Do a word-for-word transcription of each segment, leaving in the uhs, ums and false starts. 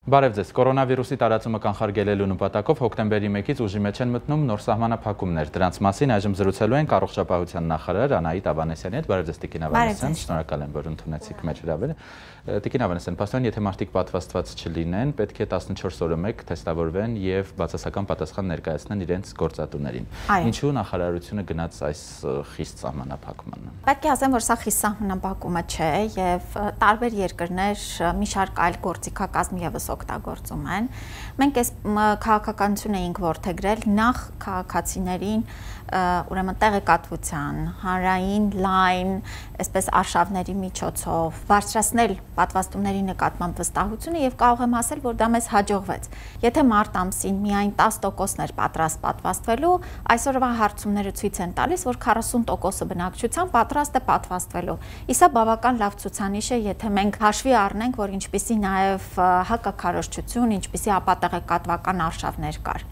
Բարև ձեզ, կորոնավիրուսի տարածումը կանխարգելելու նպատակով հոկտեմբերի մեկից ուժի մեջ են մտնում նոր սահմանափակումներ։ Դրանց մասին այժմ զրուցելու ենք առողջապահության նախարար Անահիտ Ավանեսյանի հետ։ Բարև ձեզ, Տիկին Ավանեսյան, շնորհակալ եմ, որ ընդունեցիք մեր հրավերը։ Տիկին Ավանեսյան, պաշտպան, եթե մարդիկ պատվաստված չլինեն, պետք է տասնչորս օրը մեկ թեստավորվեն եւ բացասական պատասխան ներկայացնեն իրենց գործատուներին։ Ինչու նախարարությունը գնաց այս խիստ սահմանափակմանը։ Պետք է ասեմ, որ սա խիստ սահմանափակումը չէ եւ տարբեր երկրներ մի շարք այլ գործիքակազմ եւս օգտագործում են։ Մենք այս քաղաքականություն էինք որդեգրել նախ քաղաքացիներին ուրեմն տեղեկատվության, հանրային լայն, այսպես արշավների միջոցով բարձրացնել պատվաստումների նկատմամբ վստահությունը եւ կարող եմ ասել, որ դա մեզ հաջողվեց։ Եթե մարտ ամսին միայն տասը տոկոսն էր պատրաստ պատվաստվելու, այսօրվա հարցումները ցույց են տալիս, որ քառասուն տոկոսը բնակչության պատրաստ է պատվաստվելու։ Իսա բավական լավ ցուցանիշ է, եթե մենք հաշվի առնենք, որ ինչպիսի նաեւ հակաքարոզչություն, ինչպիսի ապատեղեկատվական արշավներ կար։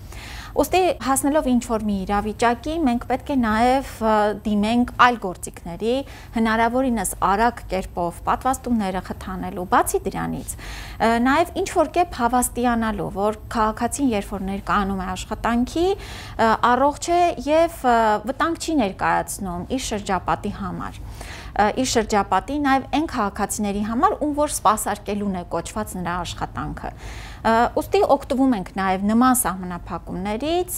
Ոստի հասնելով ինչ-որ մի իրավիճակի, մենք պետք է նաև դիմենք այլ գործիքների, հնարավորինս արագ կերպով պատվաստումները խթանելու, բացի դրանից, նաև ինչ-որ կերպ հավաստիանալու, որ քաղաքացին երբ որ ներկայանում է աշխատանքի, առողջ է եւ վտանգ չի ներկայացնում իր շրջապատի համար։ Իր շրջապատի նաև այն քաղաքացիների համար, ում որ սպասարկելուն է կոչված նրա աշխատանքը։ Ուստի օգտվում ենք նաև նման սահմանափակումներից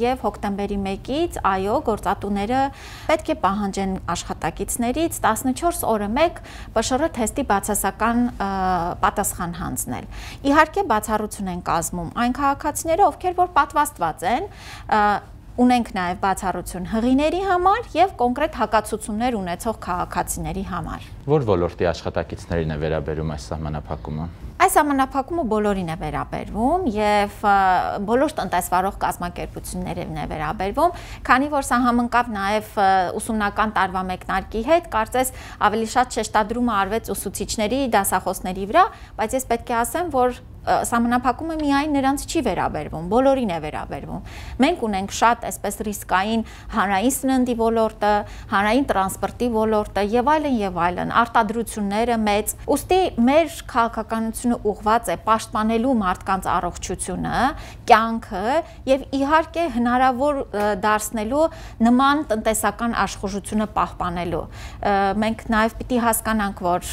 եւ հոկտեմբերի մեկից, այո, գործատուները պետք է պահանջեն աշխատակիցներից տասնչորս օրը մեկ Պ Շ R թեստի բացասական պատասխան հանձնել։ Իհարկե բացառություն են կազմում այն քաղաքացիները, ովքեր որ պատվաստված են, ունենք նաև բացառություն հղիների համար եւ կոնկրետ հակացություններ ունեցող քաղաքացիների համար։ Որ ոլորտի աշխատակիցներին է վերաբերում այս սահմանափակումը։ Այս սահմանափակումը բոլորին է վերաբերվում եւ բոլոր տնտեսվարող կազմակերպություններին է վերաբերվում, քանի որ սա համընկավ նաեւ ուսումնական տարվա մեկնարկի հետ, կարծես ավելի շատ շեշտադրումը արվեց ուսուցիչների, դասախոսների վրա, բայց ես պետք է ասեմ, որ սահմանափակումը միայն նրանց չի վերաբերվում, բոլորին է վերաբերվում։ Մենք ունենք շատ այսպես ռիսկային հանրային սննդի ոլորտը, հանրային տրանսպորտի ոլորտը եւ այլն եւ այլն, արտադրությունները մեծ։ Ուստի մեր քաղաքականությունը ուղղված է պաշտպանելու մարդկանց առողջությունը, կյանքը եւ իհարկե հնարավոր դարձնելու նման տնտեսական աշխուժությունը պահպանելու։ Մենք նաեւ պիտի հասկանանք, որ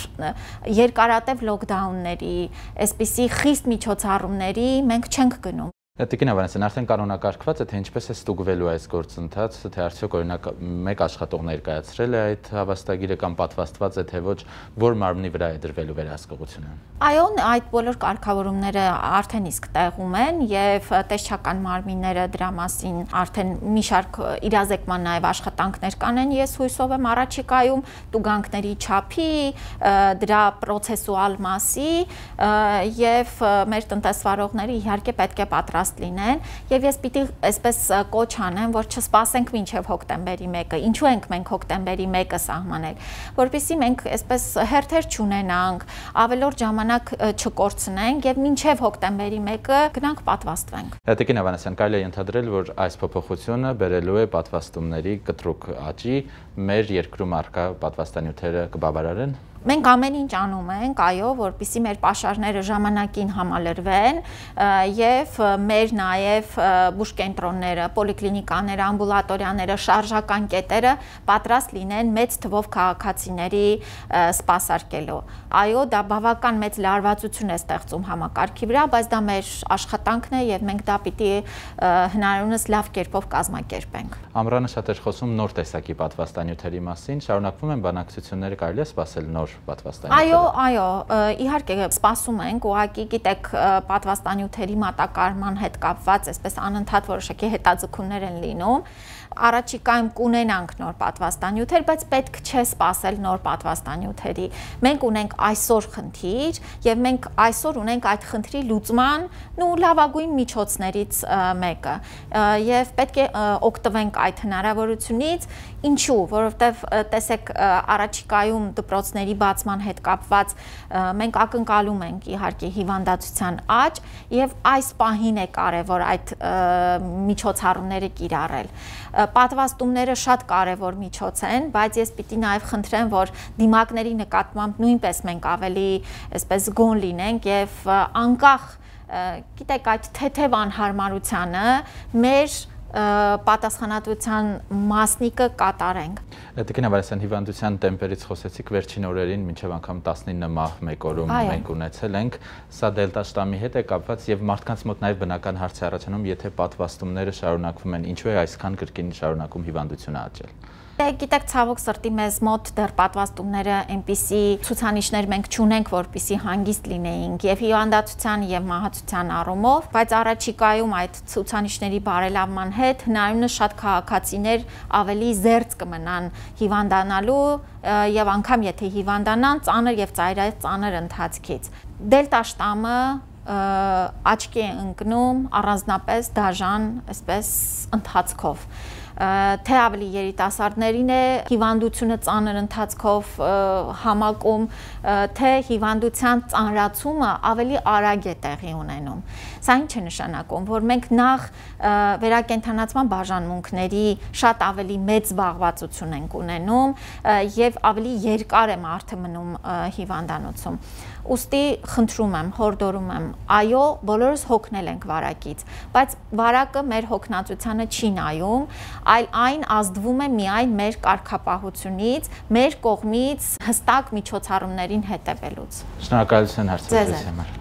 երկարատև լոկդաունների, այսպիսի խիստ միջոցառումների մենք չենք գնում։ Տիկին Ավանեսյան, արդեն կանոնակարգված է, թե ինչպես է ստուգվելու այս գործընթացը, թե արդյոք օրինակ մեկ աշխատող ներկայացրել է այդ հավաստագիրը կամ պատվաստված է, թե ոչ, որ մարմնի վրա է դրվելու վերահսկողությունը։ Այո, այդ բոլոր կարգավորումները արդեն իսկ տեղում են եւ տեսչական մարմինները դրա մասին արդեն մի շարք իրազեկման նաեւ աշխատանքներ կանեն, ես հույսով եմ առաջիկայում տուգանքների չափի, դրա պրոցեսուալ մասի եւ մեր տնտեսվարողները իհարկե պետք է պատրաստ լինեն եւ ես պիտի այսպես կոչ անեմ, որ չսպասենք մինչեւ հոկտեմբերի մեկը։ Ինչու ենք մենք հոկտեմբերի մեկը սահմանել, որպեսզի մենք այսպես հերթեր չունենանք, ավելորդ ժամանակ չկորցնենք եւ մինչեւ հոկտեմբերի մեկը գնանք պատվաստվենք։ Տիկին Ավանեսյան, կարելի է ենթադրել, որ այս փոփոխությունը բերելու է պատվաստումների կտրուկ աճի, մեր երկրում առկա պատվաստանյութերը կբավարարեն։ Մենք ամեն ինչ անում ենք, այո, որպեսզի մեր պաշարները ժամանակին համալրվեն եւ մեր նաեւ բուժկենտրոնները, պոլիկլինիկաները, ամբուլատորիաները, շարժական կետերը պատրաստ լինեն մեծ թվով քաղաքացիների սպասարկելու։ Այո, դա բավական մեծ լարվածություն է ստեղծում համակարգի վրա, բայց դա մեր աշխատանքն է եւ մենք դա պիտի հնարավորինս լավ կերպով կազմակերպենք։ Ամռանը շատ էր խոսում նոր տեսակի պատվաստանյութերի մասին, շարունակվում են բանակցությունները, կարելի է սպասել նոր Այո, այո, իհարկե սպասում ենք, ուղղակի գիտեք, պատվաստանյութերի մատակարարման հետ կապված այսպես անընդհատ որոշակի հետաձգումներ են լինում։ Առաջիկայում կունենանք նոր պատվաստանյութեր, բայց պետք չէ սպասել նոր պատվաստանյութերի։ Մենք ունենք այսօր խնդիր եւ մենք այսօր ունենք այդ խնդրի լուծման ու լավագույն միջոցներից մեկը եւ պետք է օգտվենք այդ հնարավորությունից, ինչու, որովհետեւ տեսեք առաջիկայում դպրոցների բացման հետ կապված մենք ակնկալում ենք իհարկե հիվանդացության աճ եւ այս պահին է կարեւոր այդ միջոցառումները կիրառել։ Պատվաստումները շատ կարևոր միջոց են, բայց ես պիտի նաև խնդրեմ, որ դիմակների նկատմամբ նույնպես մենք ավելի այսպես գոն լինենք եւ անկախ գիտեք, այդ թեթև անհարմարությանը մեր պատասխանատվության մասնիկը կատարենք։ Տիկին Ավանեսյան, հիվանդության տեմպերից խոսեցիք վերջին օրերին, մինչև անգամ տասնինը մահ մեկ օրում մենք ունեցել ենք, սա դելտա շտամի հետ է կապված եւ մարդկանց մոտ նաեւ բնական հարց է առաջանում, եթե պատվաստումները շարունակվում են, ինչու է այսքան կրկին շարունակում հիվանդությունը աճել։ Գիտեք, ցավոք սրտի մեզ մոտ դեռ պատվաստումները այնպիսի ցուցանիշներ մենք չունենք, որպիսի հանգիստ լինեինք եւ հիվանդացության եւ մահացության առումով, բայց առաջիկայում այդ ցուցանիշների բարելավման հետ հնարավորինս շատ քաղաքացիներ ավելի զերծ կմնան հիվանդանալու եւ անգամ եթե հիվանդանան, ծանր եւ ծայրածանր ընթացքից։ Դելտա շտամը աչքի է ընկնում առանձնապես դաժան, այսպես ընթացքով։ Թե ավելի երիտասարդներին է հիվանդությունը ծանր ընթացքով համակում, թե հիվանդության ծանրացումը ավելի արագ է տեղի ունենում։ Սա ինչ է նշանակում, որ մենք նախ վերակենդանացման բաժանմունքների շատ ավելի մեծ զբաղվածություն ենք ունենում եւ ավելի երկար է մարդը մնում հիվանդանոցում։ Ուստի խնդրում եմ, հորդորում եմ, այո, բոլորս հոգնել ենք վարակից, բայց վարակը մեր հոգնածությանը չի նայում, այլ այն ազդվում է միայն մեր կարգապահությունից, մեր կողմից հստակ միջոցառումներին հետևելուց։ Շնորհակալություն հարցազրույցի համար։